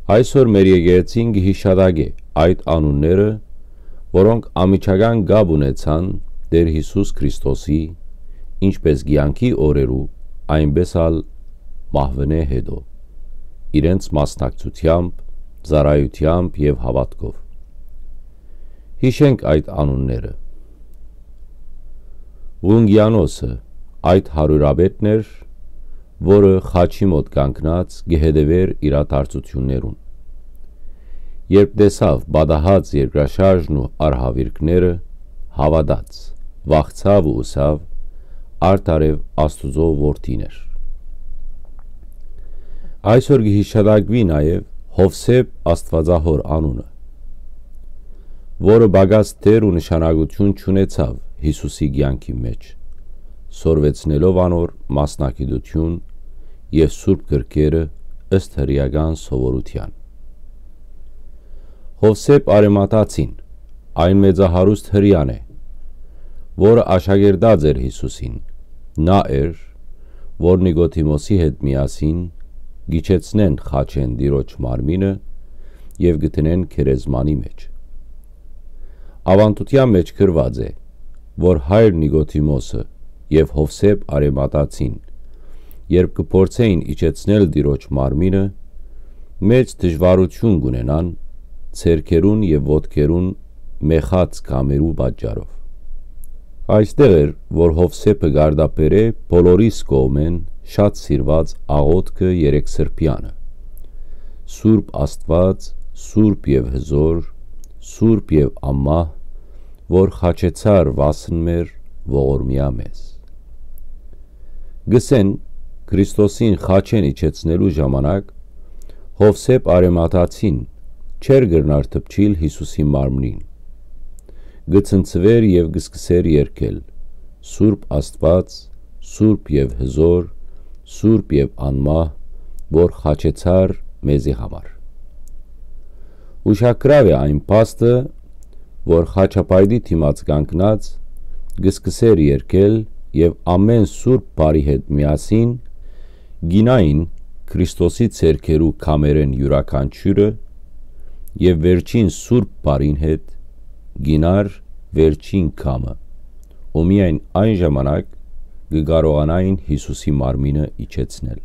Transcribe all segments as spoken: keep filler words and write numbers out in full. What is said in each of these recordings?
Այսօր մեր եկեղեցին կը յիշատակէ այդ անունները, որոնք անմիջական կապ ունեցան Տէր Յիսուս Քրիստոսի, ինչպէս կեանքի օրերու, այնպէս ալ մահուենէ յետոյ, իրենց մասնակցութեամբ, ծառայութեամբ եւ հաւատքով։ Յիշենք այդ անունները։ Ղունկիանոսը այդ հարիւրապետն էր, որը խաչի մօտ կանգնած կը հետեւէր իրադարձութիւններուն։ Երբ տեսաւ պատահած երկրաշարժն ու արհաւիրքները, հաւատաց, վախցաւ ու ըսաւ. «Արդարեւ Աստուծոյ որդին էր»։ Այսօր կը յիշատակուի նաեւ Յովսէփ Աստուածահօր անունը, որը պակաս դեր ու նշանակութիւն չունեցաւ Յիսուսի կեանքի մէջ, սորվեցնելով անոր մասնագիտութիւն եւ սուրբ գրքերը ըստ հրեական սովորութեան։ Յովսէփ Արեմաթացին այն մեծահարուստ հրեան է, որը աշակերտած էր Յիսուսին, նա էր, որ Նիկոդիմոսի հետ միասին կ'իջեցնեն խաչէն Տիրոջ մարմինը եւ կը դնեն գերեզմանի մէջ։ Աւանդութեան մէջ գրուած է, որ հայր Նիկոդիմոսը եւ Յովսէփ Արեմաթացին, երբ կը փորձէին իջեցնել Տիրոջ մարմինը, մեծ դժուարութիւն կ'ունենան ձեռքերուն եւ ոտքերուն մեխած կամերու պատճառով։ Այստեղ էր, որ Յովսէփը կարտաբերէ բոլորիս կողմէն շատ սիրուած աղօթքը երեք սրբեանը. «Սուրբ Աստուած, սուրբ եւ հզօր, սուրբ եւ անմահ, որ խաչեցար վասն մեր, ողորմիա մեզ»։ Գսեն, Քրիստոսին խաչէն իջեցնելու ժամանակ Յովսէփ Արեմաթացին չէր կրնար դպչիլ Յիսուսի մարմնին։ Կը ցնցուէր եւ կը սկսէր երգել. «Սուրբ Աստուած, սուրբ եւ հզօր, սուրբ եւ անմահ, որ խաչեցար մեզի համար»։ Ուշագրաւ է այն փաստը, որ խաչապայտի դիմաց կանգնած կը սկսէր երգել եւ ամէն սուրբ բառի հետ միասին կ'իյնային Քրիստոսի ձեռքերու քամերէն իւրաքանչիւրը եւ վերջին սուրբ բառին հետ կ'իյնար վերջին քամը, ու միայն այն ժամանակ կը կարողանային Յիսուսի մարմինը իջեցնել։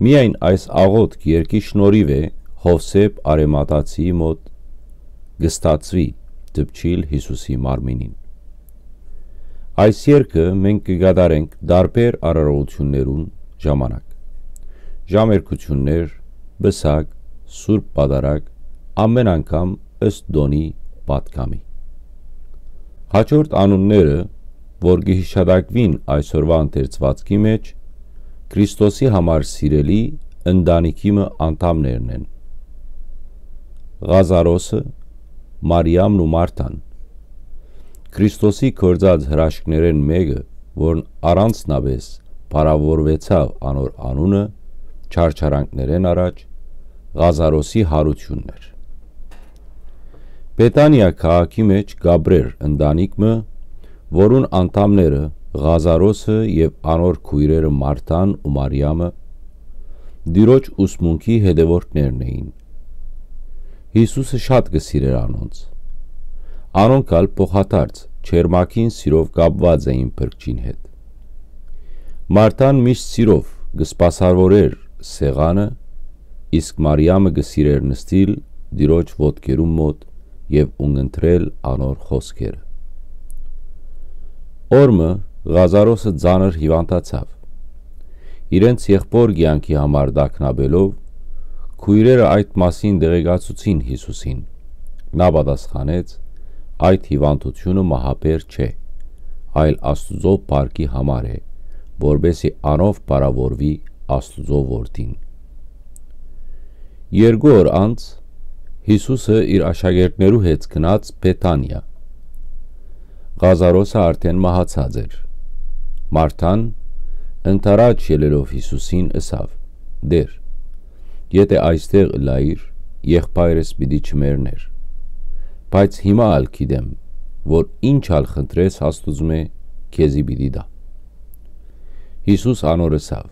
Միայն այս աղօթք երգի շնորհիւ է Յովսէփ Արեմաթացիի մօտ կը ստացուի դպչիլ Յիսուսի մարմինին։ Այս երգը մենք կը կատարենք տարբեր արարողութիւններուն ժամանակ։ Ժամերգութիւններ, պսակ, սուրբ պատարագ, ամէն անգամ ըստ տօնի պատգամի։ Հաջորդ անունները, որ կը յիշատակուին այսօրվա ընթերցուածքի մէջ, Քրիստոսի համար սիրելի ընտանիքի մը անդամներն են. Ղազարոսը, Մարիամն ու Մարթան։ Քրիստոսի գործած հրաշքներէն մէկը, որն առանձնապէս փառաւորուեցաւ անոր անունը չարչարանքներէն առաջ, Ղազարոսի յարութիւնն էր։ Բեթանիա քաղաքի մէջ կ'ապրէր ընտանիք մը, որուն անդամները Ղազարոսը եւ անոր քոյրերը Մարթան ու Մարիամը Տիրոջ ուսմունքի հետեւորդներն էին։ Յիսուսը շատ կը սիրէր անոնց։ Անոնք ալ փոխադարձ ջերմագին սիրով կապուած էին փրկչին հետ։ Մարթան միշտ սիրով կը սպասաւորէր սեղանը, իսկ Մարիամը կը սիրէր նստիլ Տիրոջ ոտքերուն մօտ եւ ունկնդրել անոր խօսքերը։ Օր մը Ղազարոսը ծանր հիւանդացաւ։ Իրենց եղբոր կեանքի համար տագնապելով, քոյրերը այդ մասին տեղեկացուցին Յիսուսին։ Նա պատասխանեց. «Այդ հիւանդութիւնը մահաբեր չէ, այլ Աստուծոյ փառքի համար է, որպէսզի անով փառաւորուի Աստուծոյ Որդին»։ Երկու օր անց Յիսուսը իր աշակերտներու հետ գնաց Բեթանիա։ Ղազարոսը արդէն մահացած էր։ Մարթան, ընդառաջ ելելով Յիսուսին, ըսաւ. «Տէր, եթէ այստեղ ըլլայիր, եղբայրս պիտի չմեռնէր։ Բայց հիմա ալ գիտեմ, որ ինչ ալ խնդրես Աստուծմէ, քեզի պիտի տայ»։ Յիսուս անոր ըսաւ.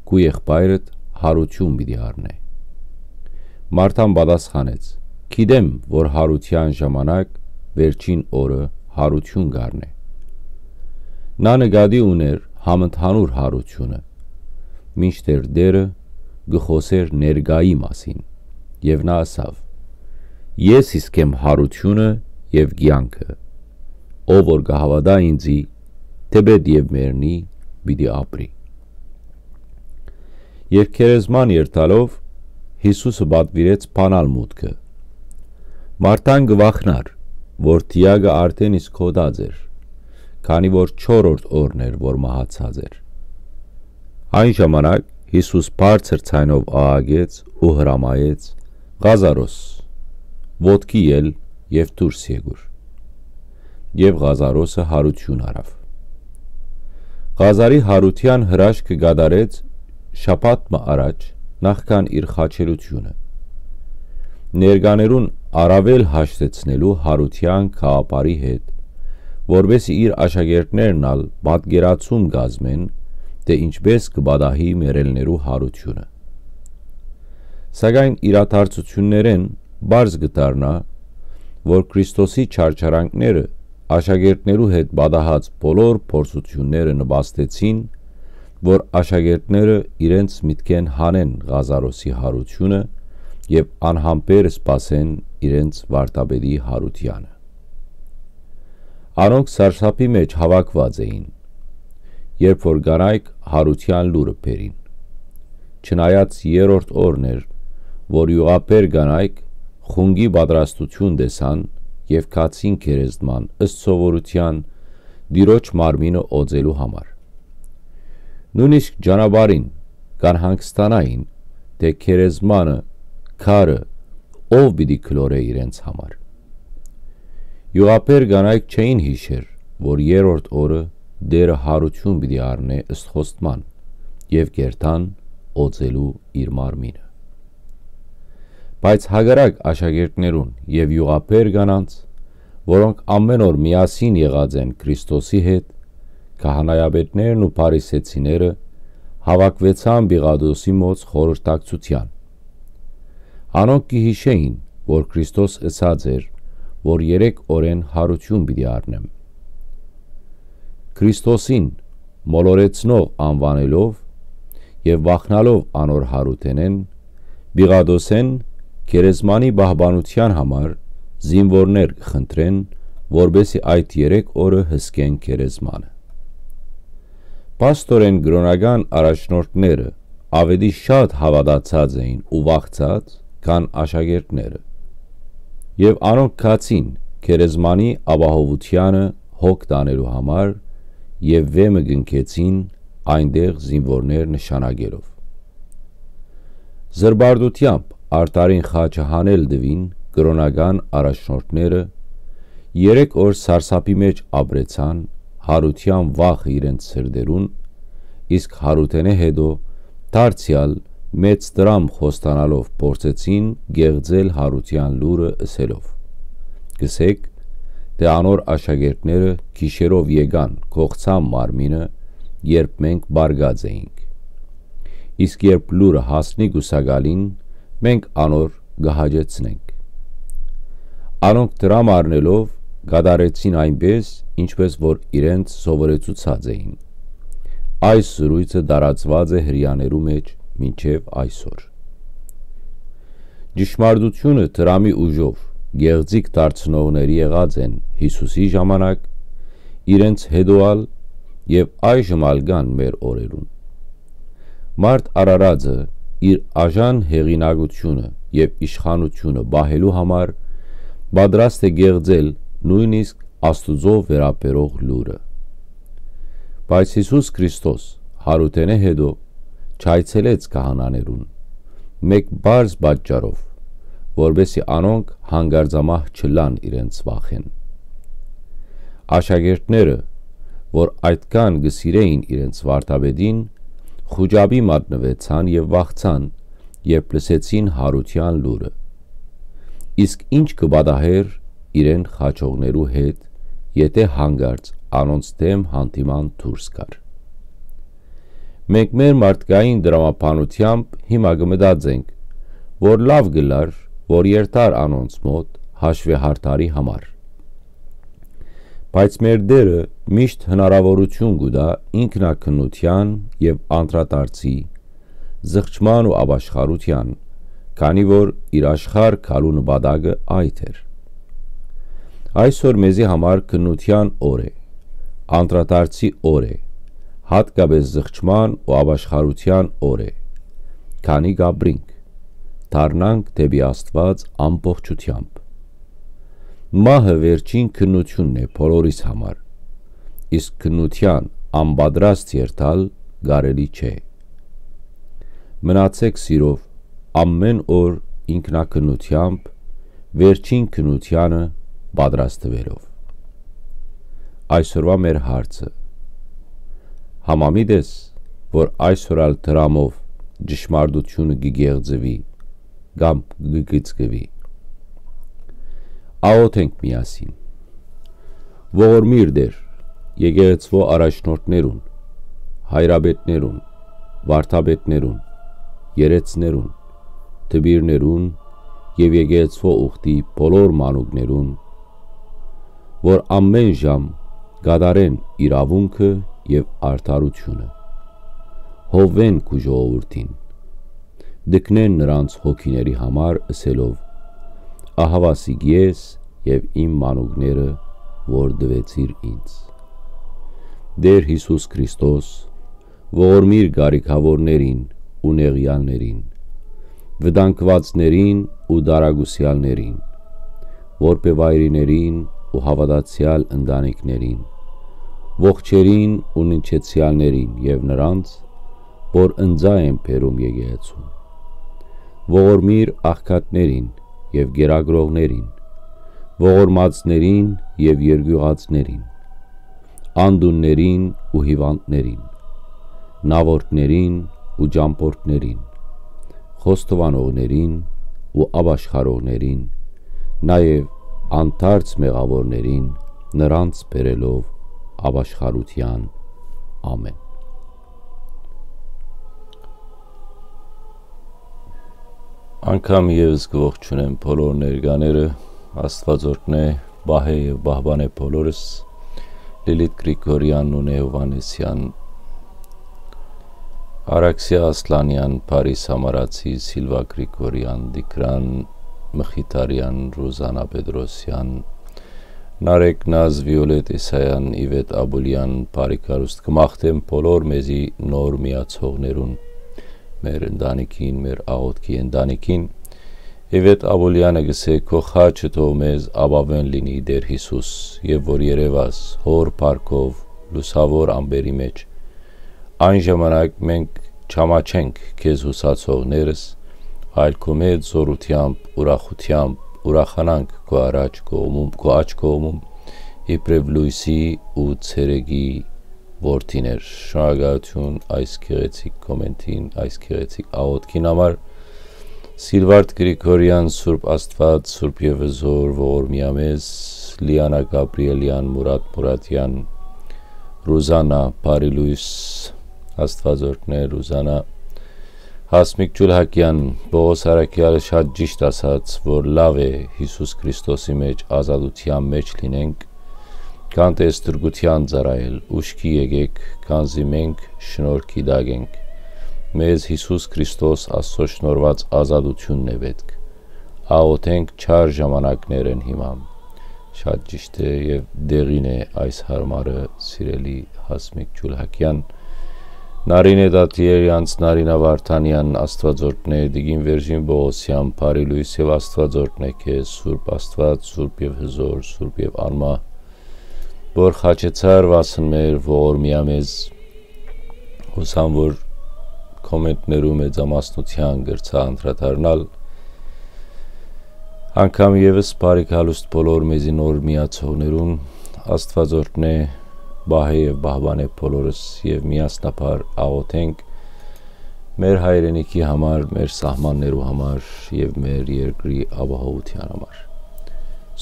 «Քու եղբայրդ յարութիւն պիտի առնէ»։ Մարտան պատասխանեց. «Գիտեմ, որ յարութեան ժամանակ վերջին օրը յարութիւն կ'առնէ»։ Նա նկատի ունէր համընդհանուր յարութիւնը, մինչդեռ Տէրը կը խօսէր ներկայի մասին, եւ նա ըսաւ. «Ես իսկ եմ յարութիւնը եւ կեանքը. ով որ կը հաւատայ ինծի, թէպէտ եւ մեռնի, պիտի ապրի»։ Եւ գերեզման երթալով՝ Յիսուսը պատուիրեց բանալ մուտքը։ Մարտան կը վախնար, որ դիակը արդէն իսկ հոտած էր, քանի որ չորրորդ օրն էր, որ մահացած էր։ Այն ժամանակ Յիսուս բարձր ձայնով աղաղեց ու հրամայեց. «Ղազարոս, ոտքի ել եւ դուրս եկուր»։ Եւ Ղազարոսը յարութիւն առաւ։ Ղազարի յարութեան հրաշքը կատարեց շաբաթ մը առաջ, նախքան իր խաչելութիւնը։ Ներկաներուն առաւել հաշտեցնելու յարութեան գաղափարի հետ, որպէսզի իր աշակերտներն ալ պատկերացում կազմեն, թէ ինչպէս կը պատահի մեռելներու յարութիւնը։ Սակայն իրադարձութիւններէն պարզ կը դառնայ, որ Քրիստոսի չարչարանքները, աշակերտներու հետ պատահած բոլոր փորձութիւնները նպաստեցին, որ աշակերտները իրենց միտքէն հանեն Ղազարոսի յարութիւնը եւ անհամբեր սպասեն իրենց վարդապետի յարութեանը։ Անոնք սարսափի մէջ հաւաքուած էին, երբ որ կանայք յարութեան լուրը բերին։ Չնայած երրորդ օրն էր, որ իւղաբեր կանայք խունկի պատրաստութիւն տեսան եւ գացին գերեզման ըստ սովորութեան Տիրոջ մարմինը օծելու համար։ Նոյնիսկ ճանապարհին կ'անհանգստանային, թէ գերեզմանը, քարը, ով պիտի գլորէ իրենց համար։ Իւղաբեր կանայք չէին յիշեր, որ երրորդ օրը Տէրը յարութիւն պիտի առնէ ըստ խոստման եւ կ'երթան օծելու իր մարմինը։ Բայց հակառակ աշակերտներուն եւ իւղաբեր կանանց, որոնք ամէն օր միասին եղած են Քրիստոսի հետ, քահանայապետներն ու փարիսեցիները հաւաքուեցան Պիղատոսի մոտ խորհրդակցութեան։ Անոնք կը յիշէին, որ Քրիստոս ըսած էր, որ երեք օրէն յարութիւն պիտի առնեմ։ Քրիստոսին մոլորեցնող անուանելով եւ վախնալով անոր յարութենէն, Պիղատոսէն գերեզմանի պահպանութեան համար զինուորներ կը խնդրեն, որպէսզի այդ երեք օրը հսկեն գերեզմանը։ Փաստօրէն կրօնական առաջնորդները աւելի շատ հաւատացած էին ու վախցած, քան աշակերտները։ Եւ անոնք գացին գերեզմանի ապահովութեանը հոգ տանելու համար եւ վէմը կնքեցին այնտեղ զինուորներ նշանակելով։ Զրպարտութեամբ արդարին խաչը հանել տուին կրօնական առաջնորդները, երեք օր սարսափի մէջ ապրեցան, յարութեան վախը իրենց սրտերուն, իսկ յարութենէ յետոյ դարձեալ մեծ դրամ խոստանալով փորձեցին կեղծել յարութեան լուրը ըսելով. «Կ'ըսէք, թէ անոր աշակերտները գիշերով եկան, կ'ողցան մարմինը, երբ մենք պառկած էինք։ Իսկ երբ լուրը հասնի կուսակալին, մենք անոր կը հաճեցնենք»։ Անոնք դրամ առնելով՝ կատարեցին այնպէս, ինչպէս որ իրենց սովորեցուցած էին։ Այս զրոյցը տարածուած է Հրեաներու մէջ մինչեւ այսօր։ Ճշմարտութիւնը դրամի ուժով գեղձիկ դարձնողներ եղած են Յիսուսի ժամանակ, իրենց յետոյ ալ եւ այժմ ալ կան մեր օրերուն։ Մարդ արարածը իր աժան հեղինակութիւնը եւ իշխանութիւնը պահելու համար պատրաստ է կեղծել նոյնիսկ Աստուծոյ վերաբերող լուրը։ Բայց Յիսուս Քրիստոս յարութենէ յետոյ չայցելեց քահանաներուն, մէկ պարզ պատճառով, որպէսզի անոնք հանկարծամահ չըլլան իրենց վախէն։ Աշակերտները, որ այդքան կը սիրէին իրենց վարդապետին, խուճապի մատնուեցան եւ վախցան, երբ լսեցին յարութեան լուրը։ Իսկ ի՞նչ կը պատահէր իրեն խաչողներու հետ, եթէ հանկարծ անոնց դէմ յանդիման դուրս գար։ Մենք մեր մարդկային տրամաբանութեամբ հիմա կը մտածենք, որ լաւ կ'ըլլար, որ երթար անոնց մօտ հաշուեհարդարի համար։ Բայց մեր Տէրը միշտ հնարաւորութիւն կու տայ ինքնաքննութեան եւ անդրադարձի, զղջման ու ապաշխարութեան, քանի որ իր աշխարհ գալու նպատակը այդ էր։ Այսօր մեզի համար քննութեան օր է, անդրադարձի օր է, յատկապէս զղջման ու ապաշխարութեան օր է, քանի կ'ապրինք, դառնանք դէպի Աստուած ամբողջութեամբ։ Մահը վերջին քննութիւնն է բոլորիս համար, իսկ քննութեան անպատրաստ երթալ կարելի չէ։ Մնացէք սիրով, ամէն օր ինքնակնությամբ, վերջին քննութեանը պատրաստուելով։ Այսօրվա մեր հարցը. համամիտ ես, որ այսօր ալ դրամով ճշմարտությունը կ'եղծուի կամ կ'գծկուի։ Աղօթենք միասին։ Ողորմիր Տէր, եկեղեցւոյ առաջնորդներուն, հայրապետներուն, վարդապետներուն, երեցներուն, դպիրներուն եւ եկեղեցւոյ ուխտի բոլոր մանուկներուն, որ ամէն ժամ կատարեն իրաւունքը եւ արդարութիւնը, հովեն քու ժողովուրդին, դքնեն նրանց հոգիների համար, ըսելով. «Ահաւասիկ ես եւ իմ մանուկները, որ տուեցիր ինձ»։ Տէր Յիսուս Քրիստոս, ողորմիր կարիքաւորներին ու նեղեալներին, վտանգուածներին ու տարակուսեալներին, որբեւայրիներին ու հաւատացեալ ընտանիքներին, ողջերին ու ննջեցեալներին եւ նրանց, որ ընծայ են բերում եկեղեցուն, ողորմիր աղքատներին եւ կերակրողներին, ողորմածներին եւ երկիւղածներին, անդուններին ու հիւանդներին, նաւորդներին ու ճամբորդներին, խոստովանողներին ու ապաշխարողներին, նաեւ անդարձ մեղաւորներին, նրանց բերելով ապաշխարութեան։ Ամէն։ Անգամ եւս կ'ողջունեմ բոլոր ներկաները, Աստուած օրհնէ, պահէ եւ պահպանէ բոլորս, Լիլիթ Գրիգորեան ու Նեովանեսեան, Արաքսիա Ասլանեան, Փարի Սամարացի, Սիլվա Գրիգորեան, Տիգրան Մխիթարեան, Ռուզանա Պետրոսեան, Նարեկ Նազ, Վիոլետ Իսայան, Իվետ Աբուլեան, բարի գալուստ կը մաղթեմ բոլոր մեզի նոր միացողներուն, մեր ընտանիքին, մեր աղօթքի ընտանիքին։ Իվետ Աբուլեանը կ'ըսէ. «Քո խաչը թող մեզ ապաւէն լինի, Տէր Յիսուս, եւ որ երեւաս հօր փառքով լուսաւոր ամպերի մէջ, այն ժամանակ մենք չամաչենք քեզ յուսացողներս, այլ քո մեծ զօրութեամբ, ուրախութեամբ ուրախանանք քո առաջ կողմում, քո աջ կողմում, իբրեւ լոյսի ու ցերեկի որդիներ»։ Շնորհակալութիւն այս գեղեցիկ կոմենտին, այս գեղեցիկ աղօթքին համար։ Սիլվարդ Գրիգորեան, Սուրբ Աստուած, Սուրբ եւ Հզօր, ողորմիա մեզ, Լիանա Գաբրիելեան, Մուրատ Մուրատեան, Ռուզանա, բարի լոյս, Աստուած օրհնէ, Ռուզանա, Հասմիկ Ջուլհակեան, Պողոս Արաքեալը շատ ճիշտ ասաց, որ լաւ է Յիսուս Քրիստոսի մէջ ազատութեան մէջ լինենք, քան թէ ստրկութեան ծառայել, ուշքի եկէք, քանզի մենք շնորհքի տակ ենք։ Մեզ Յիսուս Քրիստոս Աստծո շնորհուած ազատութիւնն է պէտք։ Աղօթենք, չար ժամանակներ են հիմա։ Շատ ճիշտ է եւ դեղին է այս հարմարը, սիրելի Հասմիկ Ջուլհակեան։ Նարինե Դատիերյանց, Նարինա Վարդանեան, Աստուած օրհնէ, Տիկին Վերժին Պողոսեան, բարի լոյս եւ Աստուած օրհնէ քեզ, Սուրբ Աստուած, Սուրբ եւ Հզօր, Սուրբ եւ Անմահ, որ խաչեցար վասն մեր, ողորմիա մեզ։ Յուսամ, որ կոմենտներու մեծամասնութեան կրցայ անդրադառնալ։ Անգամ եւս բարի գալուստ բոլոր մեզի նոր միացողներուն, Աստուած օրհնէ, պահէ եւ պահպանէ բոլորս եւ միասնաբար աղօթենք մեր հայրենիքի համար, մեր սահմաններու համար եւ մեր երկրի ապահովութեան համար։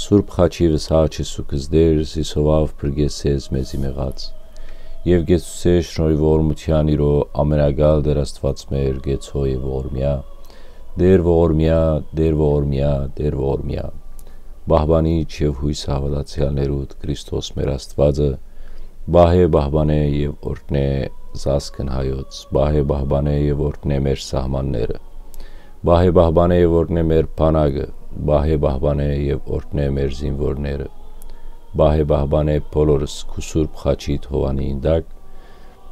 Սուրբ խաչի վսահ Յիսուս Տեր, զիսովաւ փրկեսես մեզի մեղած, եւ գեցուցե շնորհի ողորմութեան իրո ամենակալ Տեր Աստուած մեր գեցո եւ ողորմիա, Տէր ողորմեա, Տէր ողորմեա, Տէր ողորմեա։ Պահպանիչ եւ յոյսը հաւատացեալներուդ Քրիստոս մեր Աստուածը պահէ, պահպանէ եւ օրհնէ զազգն հայոց, պահէ, պահպանէ եւ օրհնէ մեր սահմանները, պահէ, պահպանէ եւ օրհնէ մեր բանակը, պահէ, պահպանէ եւ օրհնէ մեր զինուորները, պահէ, պահպանէ բոլորս քու սուրբ խաչիդ հովանին տակ,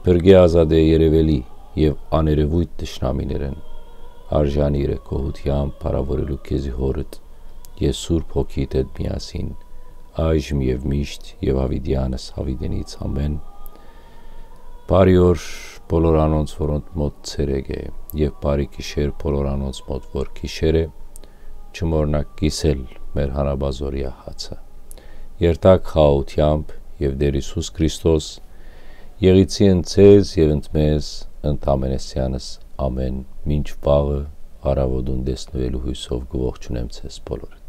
փրկէ, ազատէ երեւելի եւ աներեւոյթ թշնամիներէն, արժանի իրը գոհութեամբ փառաւորելու քեզի Հօրդ եւ Սուրբ Հոգիդ հետ միասին, այժմ եւ միշտ եւ յաւիտեանս յաւիտենից։ Ամէն։ Բարի օր բոլոր անոնց, որոնց մօտ ցերեկ է, եւ բարի գիշեր բոլոր անոնց մօտ, որ գիշեր է, չմոռնաք կիսել մեր հանապազօրեայ հացը։ Երթաք խաղաղութեամբ, եւ Տէր Յիսուս Քրիստոս եղիցի ընդ ձեզ եւ ընդ մեզ, ընդ ամենեսեանս, ամէն մինչ վաղը, առաւօտուն տեսնուելու յոյսով կը ողջունեմ ձեզ բոլորը։